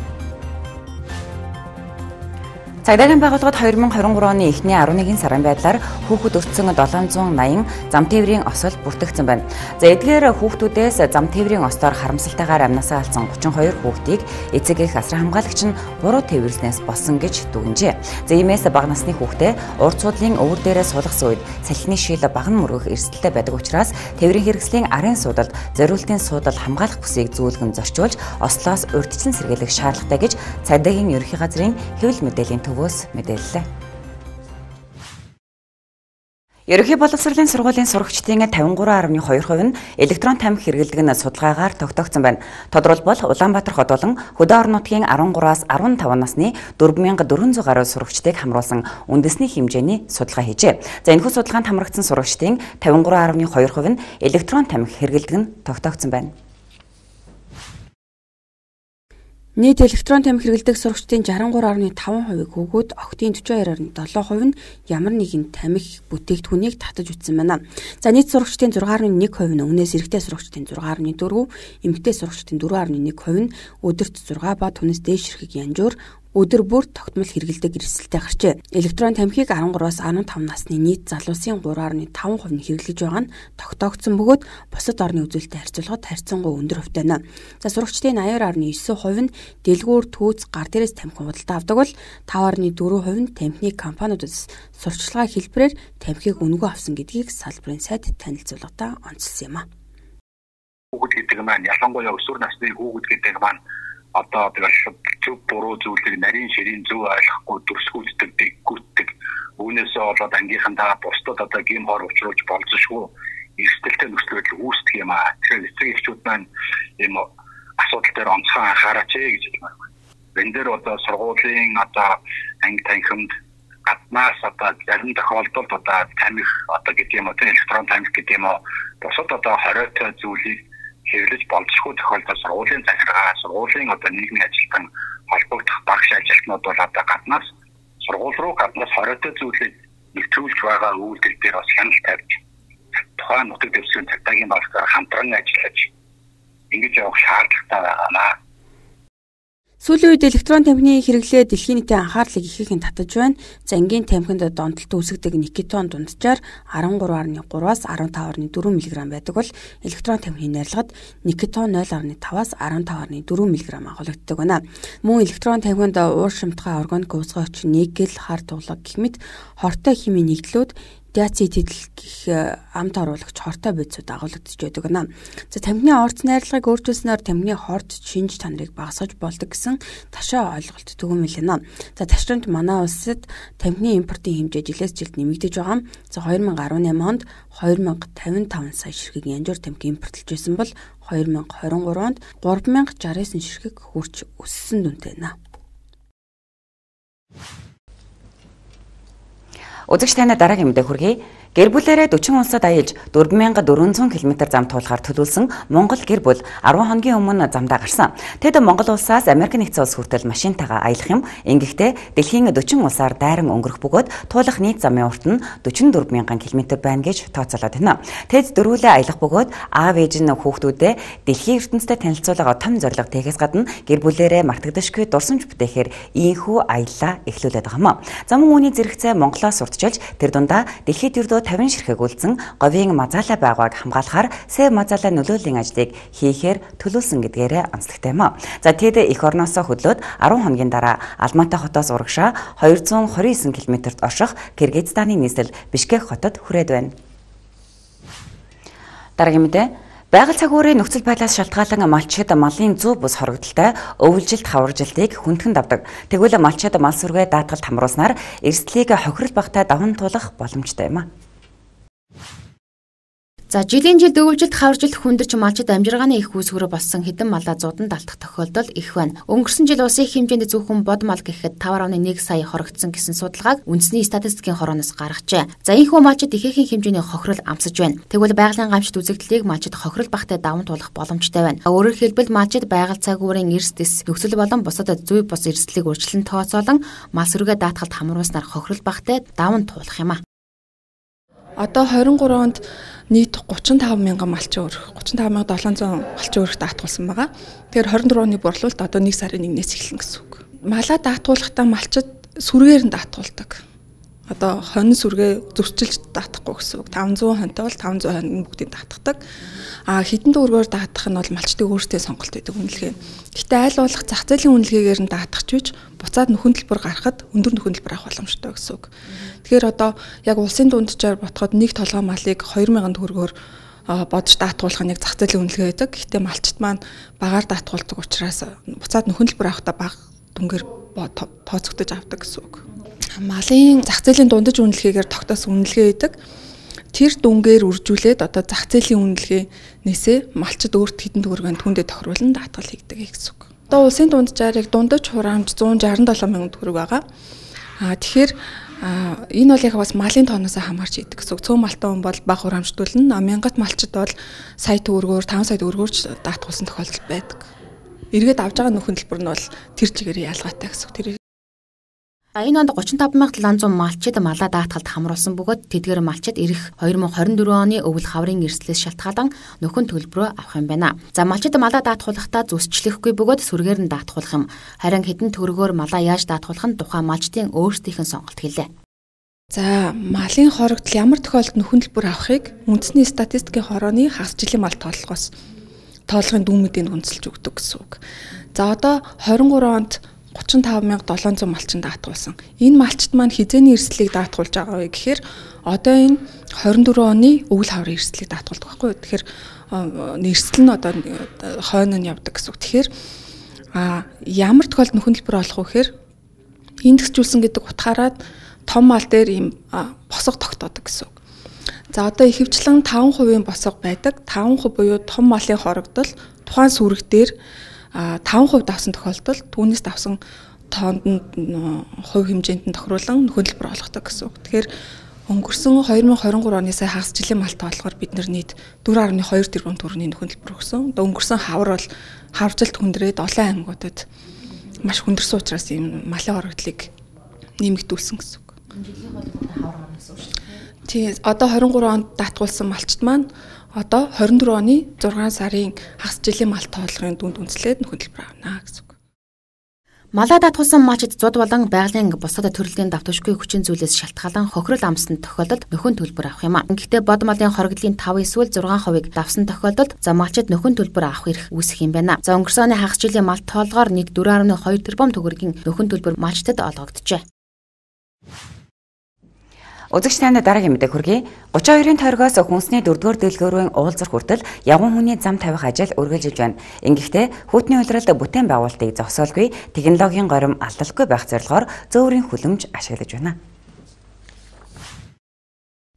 [SPEAKER 1] Цагдаагийн байгууллагад 2023 оны эхний 11 сарын байдлаар хүүхэд өртсөн 780 зам тээврийн осол бүртгэгдсэн байна. За эдгээр хүүхдүүдээс зам тээврийн остоор харамсалтайгаар амнасаа алдсан 32 хүүхдийг эцэг эх асар хамгаалагч нь буруу тээвэрлснээс болсон гэж дүгнжээ. За иймээс бага насны хүүхдээ урд судлын өвөр дээрээ суулгасан үед салхины шил баган мөргөх эрсдэлтэй байдаг учраас тээврийн хэрэгслийн арын суудалд зориултын суудал хамгаалах бүсийг зүүлгэн зорчуулж ослоос урьдчилан сэргийлэх шаардлагатай гэж цагдаагийн ерөнхий газрын хэвлэл мэдээллийн мэдээллээ. Ерөнхий боловсролын сургуулийн сурагчдын 53.2% нь электрон тамхи хэрэглэдэг нь судалгаагаар тогтоогдсон байна. Тодорхойлбол Улаанбаатар хот болон Хөдөө орон нутгийн 13-аас 15 насны 4400 гаруй сурагчдыг хамруулсан үндэсний хэмжээний судалгаа хийжээ. За энэхүү судалгаанд хамрагдсан сурагчдын 53.2% нь электрон тамхи хэрэглэдэг нь тогтоогдсон байна.
[SPEAKER 15] Нийт электрон тамхи хэрэглэдэг сурагчдын 63.5%-ийг хүүгүүд, охидын 42.7% нь ямар нэгэн тамхи бүтээгдэхүүнийг татаж үтсэн байна. За нийт сурагчдын 6.1% нь өмнөөс эрэгтэй сурагчдын 6.4%, эмэгтэй сурагчдын 4.1% нь өдөрт 6 ба түүнээс дээш эрхийг янжуур өдөр бүр тогтмол хэрэгэлдэг эрсдэлтэй гарчээ. Электрон тамхиг 13-аас 15 насны нийт залуусын 3.5% нь хэрэглэж байгаа нь тогтоогдсон бөгөөд бусад орны үзүүлэлттэй харьцуулахад харьцангуй өндөр хувьтай байна. За сурагчдын 80.9% нь дэлгүүр, түүц, гар дээрээс тамхи худалдаа авдаг бол 5.4% нь тамхины компаниудаас сурчлагын хэлбэрээр тамхиг үнэгүй авсан гэдгийг салбарын сайд танилцуулгатаа онцлсан юм а.
[SPEAKER 16] Хүүхэд гэдэг маань ялангуяа өсвөр насны хүүхэд гэдэг маань одоо зөв буруу зүйлийг нарийн ширийн зөв ойлгохгүй дүрсгүүлдэг, дээггүүтдэг. Үүнээсээ болоод ангийнхандаа бусдад одоо гим хор учруулж болзошгүй эрсдэлтэй нөхцөл байдал үүсдэг юм аа. Тэгэхээр эцэг эхчүүд маань ийм асуудал дээр онцгой анхаараач гэж хэлмээр байна. Энэ дээр одоо сургуулийн одоо анги танхимд гаднаас одоо зарим тохиолдолд одоо тамхи одоо гэдэг юм уу, электрон тамхи гэдэг юм уу, бусад одоо хориотой зүйлийг хэвлэж болзошгүй тохиолдолд сургуулийн захиргаа, сургуулийн одоо нийгмийн ажилтан холбогдох багш ажилтнууд бол одоо гаднаас сургууль руу гаднаас хориотой зүйлийг нэвтрүүлж байгаа үйлдэл дээр бас хяналт тавьж тухайн нутаг дэвсгэрийн цагдаагийн багшаар хамтран ажиллаж ингэж явах шаардлагатай байна.
[SPEAKER 15] Сүүлийн үед электрон тамхины хэрэглээ дэлхийн нийтийн анхаарлыг ихээхэн татаж байна. Зангийн тамхинд донтолт үүсгдэг никотин дунджаар 13.3-аас 15.4 мг байдаг бол электрон тамхины нарилгад никотин 0.5-аас 15.4 мг агуулдаг байна. Мөн электрон тамхинд уур шимтгай органик уусгай хүчин, никель, хар туглаг гэх мэт хортой химийн нэгдлүүд диацетил гэх амт оруулагч хортой бодисууд агуулгадж байдаг байна. За тамхины орц найрлагыг өөрчилснээр тамхины хорт шинж чанарыг багасгаж болдог гэсэн ташаа ойлголт түгээмэл байна. За ташрамт манай улсад тамхины импортын хэмжээ жилээс жилд нэмэгдэж байгаа. За 2018 онд 2055 сая ширхэг янжуур тамхи импортлж байсан бол 2023 онд 3069 ширхэг хүрч өссөн дүнтэй байна.
[SPEAKER 1] Үзэгч таны дараагийн мэдээ хүргэе. Гэр бүлээрээ 40 улсад аялж 4400 км зам туулахаар төлөвлөсөн Монгол гэр бүл 10 хоногийн өмнө замдаа гарсан. Тэд Монгол улсаас Америк нэгдсэн улс хүртэл машинтайгаа аялах юм. Ингэхдээ дэлхийн 40 улсаар дайран өнгөрөх бөгөөд туулах нийт замын урт нь 44,000 км байна гэж тооцоолоод байна. Тэд дөрвөлээ аялах бөгөөд аав ээж нь хүүхдүүдэд дэлхийн ертөнцтэй танилцуулга том зорилго тэхээс гадна гэр бүлээрээ мартагдашгүй дурсамж бүтээхээр ийхүү аяллаа эхлүүлээд байгаа юм. За мөн үүний зэрэгцээ Монголоос урдчилж тэр дундаа дэлхийд ердөө 50 ширхэг үлдсэн говийн мазаалаа байгааг хамгаалахаар СЭВ мазаалаа нөлөөллийн ажлыг хийхээр төлөвлөсөн гэдгээрээ онцлогтой юм. За тэд эх орноосоо хөдлөөд 10 хоногийн дараа Алматы хотоос урагшаа 229 км-т орших Кыргызстаны нийслэл Бишкек хотод хүрээд байна. Дараагийн мэдээ. Байгаль цагуурын нөхцөл байдлаас шалтгаалan малчид малын зүү бус хоригдолтой өвлжилт хаваржилтыг хүндхэнд авдаг. Тэгвэл малчид мал сүргээ даатгалд хамруулснаар эрсдлийг хохирол багтай даван туулах боломжтой юм а.
[SPEAKER 9] За жилийн жилд өвлжилт хаваржилт хүндэрч малчид амжиргааны их үүсгэрэ болсон хэдэн малаа зуудан далтах тохиолдол их байна. Өнгөрсөн жил улсын их хэмжээнд зөвхөн бод мал гэхэд 5.1 сая хоригдсон гэсэн судалгааг үндэсний статистикийн хорооноос гаргажээ. За энэхүү малчид ихээхэн хэмжээний хохирол амсаж байна. Тэгвэл байгалийн гамшид үзэгдлийг малчид хохирол багтай даван туулах боломжтой байна. Өөрөөр хэлбэл малчид байгаль цагуурын эрс дэс нөхцөл болон бусад зүй бус эрсдлийг урьдчилан тооцоолон мал сүргээ даатгалд хамруулснаар хохирол багтай даван туулах юм а.
[SPEAKER 17] Одоо 23 онд нийт 35,000 малчин өрөх, 35,700 малчин өрөх даатгуулсан байгаа. Тэгэхээр 24 оны борлуулалт одоо 1 сарын 1-ээс эхэлнэ гэсэн үг. Малаа даатгуулахдаа малчид сүргээр нь даатгуулдаг. Одоо хонь сүргээ зөрчилж даатахгүй гэсэн үг. 500 хоньтой бол 500 хонь бүгдийг даатгадаг. Хэдэн дүүргээр даатгах нь бол малчдын өөрсдөө сонголт байдаг үнэлгээ. Гэтэ айл болох зах зээлийн үнэлгээгээр нь даатгах ч буцаад нөхөн төлбөр гаргахад өндөр нөхөн төлбөр авах боломжтой гэсэн үг. Тэгэхээр одоо яг улсын дунджаар ботход нэг толгой малыг 2,000 төгрөгөөр бодож даатгуулах нь яг зах зээлийн үнэлгээ байдаг. Гэтэ малчт маань багаар даатгуулдаг учраас буцаад нөхөн төлбөр авахдаа бага дүнгээр тооцогдож авдаг гэсэн үг. Малын зах зээлийн дундаж үнэлгээгээр тогтоосон үнэлгээ байдаг. Тэр дүнгээр үржүүлээд одоо зах зээлийн үнэлгээнээсээ малчид өөрт хэдэн төгрөгийн түндэ тохируулан даатгал хийдэг гэсэн үг. Одоо улсын дунджаар яг дундаж хураамж 167,000 төгрөг байгаа. Тэгэхээр энэ бол яг бас малын тооноос хамаарч идэг гэсэн үг. Цөөн малтай хүн бол бага хураамжтуулна. Мянгат малчид бол сая төгрөгөөр 5 сая төгрөгөөр даатгуулсан тохиолдол байдаг. Эргээд авж байгаа нөхөн төлбөр нь бол тэр чигээр ялгаатай гэсэн үг.
[SPEAKER 9] Энэ онд 35700 малчид малаа даатгалд хамруулсан бөгөөд тэдгээр малчид ирэх 2024 оны өвөл хаврын эрсдлээс шалтгаалan нөхөн төлбөрөө авах юм байна. За малчид малаа даатгуулахдаа зүсчлэхгүй бөгөөд сүргээр нь даатгуулах юм. Харин хэдэн төгрөгөөр малаа яаж даатгуулах нь тухайн малчдын өөрсдийнх нь сонголт хэлээ.
[SPEAKER 17] За малын хорогдол ямар тохиолдолд нөхөн төлбөр авахыг үндэсний статистикийн хорооны хагас жилийн мал тооллогоос тоолгын дүүмүүдийг үндэслэж өгдөг гэсэн үг. За одоо 23 онд 35700 малчин даатгуулсан. Энэ малчид маань хизээний эрсдлийг даатгуулж байгаа вэ гэхээр одоо энэ 24 оны өвөл хаврын эрсдлийг даатгуулдаг байхгүй юу? Тэгэхээр эрсдэл нь одоо хойно нь явдаг гэсэн үг. Тэгэхээр ямар тохиолдолд нөхөн төлбөр олох вэ гэхээр индексжүүлсэн гэдэг утгаараа том мал дээр ийм босго тогтоодог гэсэн үг. За одоо ихэвчлэн 5% босго байдаг. 5% буюу том малын хорогдол тухайн сүрэг дээр 5% давсан тохиолдолд түүнээс давсан тоонд нь хувь хэмжээнд нь тохируулан нөхөн төлбөр олгодог гэсэн үг. Тэгэхээр өнгөрсөн 2023 оны сая хагас жилийн мал тоолгоор бид нийт 4.2 тэрбум төгрөгийн нөхөн төлбөр өгсөн. Одоо өнгөрсөн хавар бол хавржилт хүндрээд олон аймагуудад маш хүндэрсэн учраас ийм малын хорогдлыг нэмэгдүүлсэн гэсэн үг. Тийм одоо 23 онд даатгуулсан малчт маань одоо 24 оны 6 сарын хагас жилийн мал тоолгын дүнд үндэслээд нөхөн төлбөр авна гэсэн үг.
[SPEAKER 9] Малаа даатгуулсан малчид зуд болон байгалийн бусад төрөлхийн давтамжгүй хүчин зүйлээс шалтгаалan хохирол амссан тохиолдолд нөхөн төлбөр авах юм а. Гэхдээ бод малын хорогдлын 5 эсвэл 6% давсан тохиолдолд за малчид нөхөн төлбөр авах эрх үүсэх юм байна. За өнгөрсөн оны хагас жилийн мал тоолгоор нийт 4.2 тэрбум төгрөгийн нөхөн төлбөр малчдад олгогджээ.
[SPEAKER 1] Үзэгч танд дараагийн мэдээ хүргэе. 32-ын тойргоос хүнсний 4-р дэлгүүрийн уулзар хүртэл явган хүний зам тавих ажил үргэлжилж байна. Ингэхдээ хүүтний улиралд бүтээн байгуулалтыг зогсоолгүй технологийн горим алдалгүй байх зорилгоор зөөврийн хүлэмж ашиглаж байна.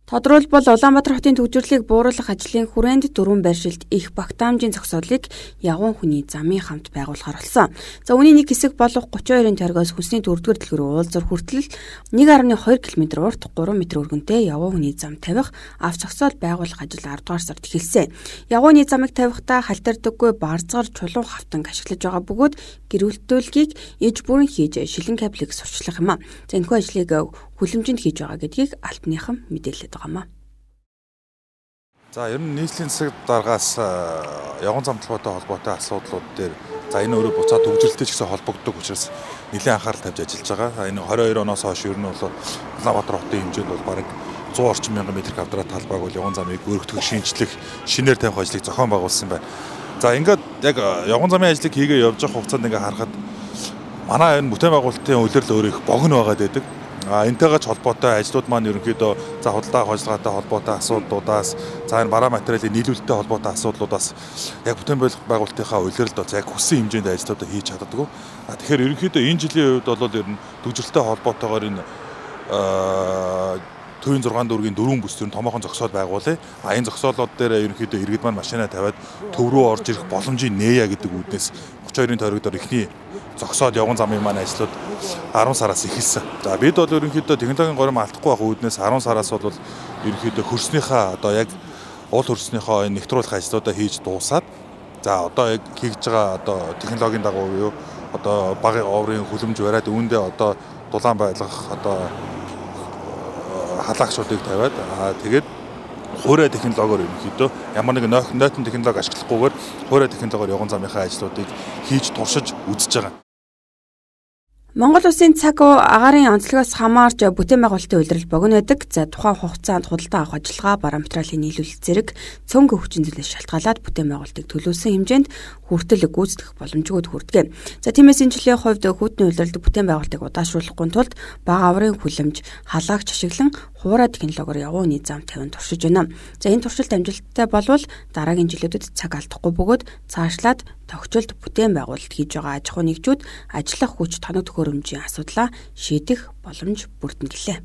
[SPEAKER 15] Тодорхойлбол Улаанбаатар хотын төвжирлийг бууруулах ажлын хүрээнд дөрвөн байршилд их багтаамжийн зогсоолыг явган хүний замын хамт байгуулахаар болсон. За үүний нэг хэсэг болох 32-ын тойргоос хүнсний 4-р дэлгүүрийн уулзар хүртэл 1.2 км урт 3 м өргөнтэй явган хүний зам тавих авч зогсоол байгуулах ажил 10-р сард эхэлсэн. Явган хүний замыг тавихдаа халтардаггүй барзгар чулуун хавтанг ашиглаж байгаа бөгөөд гэрүүлтүүлгийг иж бүрэн хийж шилэн кабелийг сурчлах юм а. За энэхүү ажлыг хүлэмжинд хийж байгаа гэдгийг албаныхан мэдээлээд байгаамаа.
[SPEAKER 18] За ер нь нийслэлийн засаг даргаас явган замтлагтай холбоотой асуудлууд дээр за энэ өөрөө буцаад төвжирэлтэй ч гэсэн холбогддог учраас нэлээд анхаарал тавьж ажиллаж байгаа. Энэ 22 оноос хойш ер нь бол Улаанбаатар хотын хэмжээнд бол бараг 100 орчим мянган метр квадрат талбайг бол явган замыг өргөдөх, шинжлэх, шинээр тавих ажлыг зохион байгуулсан байна. За ингээд яг явган замын ажлыг хийгээ явж байгаа хугацаанд ингээд харахад манай энэ бүтээн байгуулалтын улирал өөрөө их богино байгаад байдаг. Энтэйгээ холбоотой ажлууд маань ерөнхийдөө за худалдаа авах ажиллагаатай холбоотой асуудлуудаас за энэ бараа материалын нийлүүлэлттэй холбоотой асуудлуудаас яг бүтээн байгуулалтынхаа улиралд бол яг хүссэн хэмжээнд ажлуудаа хийж чаддаггүй. Тэгэхээр ерөнхийдөө энэ жилийн хувьд бол ер нь төвжирэлтэй холбоотойгоор энэ төвийн 6 дүүргийн 4 бүс төрн томоохон зогсоол байгуулъя. Энэ зогсоолууд дээр ерөнхийдөө иргэд маань машинаа тавиад төв рүү орж ирэх боломжийг нээя гэдэг үүднээс 32-ын тойрогдоор ихний зогсоод явган замын маань ажлууд 10 сараас эхэлсэн. За бид бол ерөнхийдөө технологийн горим алдахгүй байх үүднээс 10 сараас бол ерөнхийдөө хөрснийхаа одоо яг уул хөрснийхөө энэ нэвтрүүлэх ажлуудаа хийж дуусаад за одоо яг хийж байгаа одоо технологийн дагуу юу одоо багын оврын хүлэмж бариад үүндээ одоо дулаан байлгах одоо халаагчдыг тавиад тэгээд хуурай технологиор ерөнхийдөө ямар нэгэн нойтон технологи ашиглахгүйгээр хуурай технологиор явган замынхаа ажлуудыг хийж туршиж үзэж байгаа.
[SPEAKER 15] Монгол улсын цаг агаарын онцлогоос хамаарч бүтээн байгуулалтын улирал богино байдаг. За тухайн хугацаанд худалдаа авах ажиллагаа, бараа материалын нийлүүлэлт зэрэг цөөнгүй хүчин зүйлээс шалтгаалаад бүтээн байгуулалтыг төлөвлөсөн хэмжээнд хүртэл гүйцэтгэх боломжгүй хүрдэг. За тиймээс энэ жилийн хувьд хүүтний улиралд бүтээн байгуулалтыг удаашруулахгүй тулд бага аврын хүлэмж, халаагч ашиглан хуурай технологиор явган хүний зам тавин туршиж байна. За энэ туршилт амжилттай болвол дараагийн жилүүдэд цаг алдахгүй бөгөөд цаашлаад тогтцолд бүтээн байгуулалт хийж байгаа аж ахуй нэгжүүд ажиллах хүч тоног төхөөрөмжийн асуудлаа шийдэх боломж бүрдэнэ гэлээ.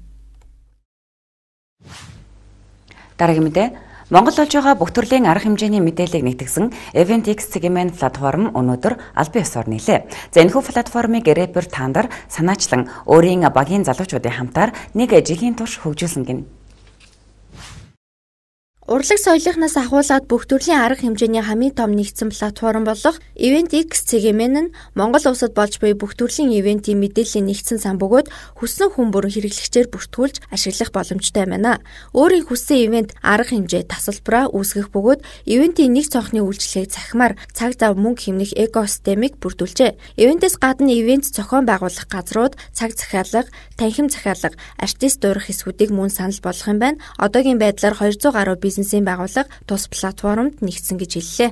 [SPEAKER 1] Дараагийн мэдээ Монгол олж байгаа бүх төрлийн арга хэмжээний мэдээллийг нэгтгэсэн EventX цэгийн платформ өнөөдөр албан ёсоор нийлээ. За энэхүү платформыг рэпер Тандар санаачлан өөрийн багийн залуучуудын хамтаар нэг жилийн турш хөгжүүлсэн гэнэ.
[SPEAKER 9] Урлаг соёлынхнаас ахуулаад бүх төрлийн арга хэмжээний хамгийн том нэгдсэн платформ болох Event X CGM нь Монгол улсад болж буй бүх төрлийн ивентийн мэдээллийн нэгдсэн сан бөгөөд хүссэн хүн бүрэн хэрэглэгчээр бүртгүүлж ашиглах боломжтой байна. Өөрийн хүссэн ивент арга хэмжээ тасалбараа үүсгэх бөгөөд ивентийн нэг цонхны үйлчлэгийг захимаар цаг зав мөнгө хэмнэх экосистемийг бүрдүүлжээ. Ивентээс гадна ивент зохион байгуулах газрууд цаг захиалга, танхим захиалга, артист дуурах хэсгүүдийг мөн санал болгох юм байна. Одоогийн байдлаар 200 гаруй бизнесийн байгууллага тус платформд нэгдсэн гэж хэллээ.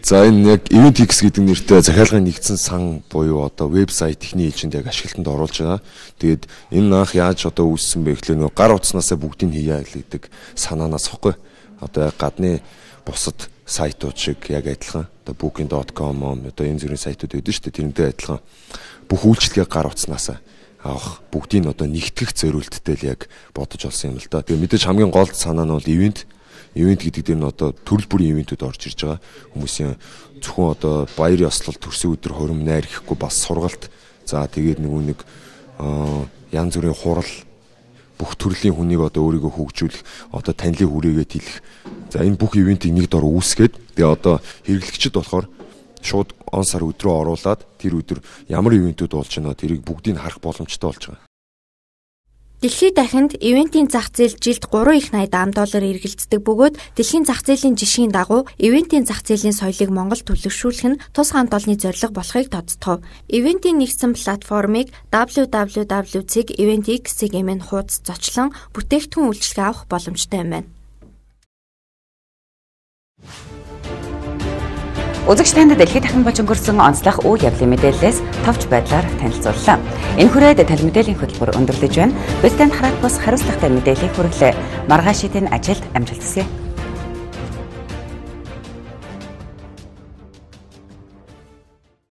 [SPEAKER 19] За энэ яг Event X гэдэг нэртэй захиалгын нэгдсэн сан буюу одоо вебсайт техникийн ээлжинд яг ашиглалтанд оруулж байгаа. Тэгээд энэ анх яаж одоо үүссэн бэ гэхлээр нөгөө гар утаснасаа бүгдийг хийя гэдэг санаанаас ихгүй. Одоо гадны бусад сайтууд шиг яг адилхан. Одоо booking.com одоо энэ зэрэг сайтууд байдаг шүү дээ. Тэрнтэй адилхан бүх үйлчлэгээ гар утаснасаа авах бүгдийг одоо нэгтгэх зориулттай л яг бодож олсон юм л да. Тэгээ мэдээж хамгийн гол санаа нь бол ивент гэдэг дээр нь одоо төрөл бүрийн ивентүүд орж ирж байгаа. Хүмүүсийн зөвхөн одоо баяр ёслол төрсөн өдөр хорим найр гэхгүй бас сургалт. За тэгээд нэг янз бүрийн хурал бүх төрлийн хүнийг одоо өөрийгөө хөгжүүлэх, одоо танилын хүрээгээд хэлэх. За энэ бүх ивентийг нэг дор үүсгээд тэгээ одоо хэрэглэгчид болохоор шууд он сар өдрөө оруулаад тэр өдөр ямар ивентүүд болж байна тэрийг бүгдийг харах боломжтой болж байгаа.
[SPEAKER 9] Дэлхийд дахинд ивентийн зах зээл жилд 3 их $80 эргэлздэг бөгөөд дэлхийн зах зээлийн жишгийн дагуу ивентийн зах зээлийн соёлыг Монгол төлөвшүүлэх нь тус хамт олонны зорилго болохыг тодтогов. Ивентийн нэгдсэн платформыг www.eventx.cgm-ийн хуудас зочлон бүтээгдэхүүн үйлчилгээ авах боломжтой юм байна.
[SPEAKER 1] Үзэгч танд дэлхийд дахин болж өнгөрсөн онцлог үйл явдлын мэдээллээс товч байдлаар танилцууллаа. Энэ хүрээд тал мэдээллийн хөтөлбөр өндөрлөж байна. Бид танд хараат бус хариуцлагатай мэдээллийг хүргэлээ. Маргааш шидийн ажилд амжилт хүсье.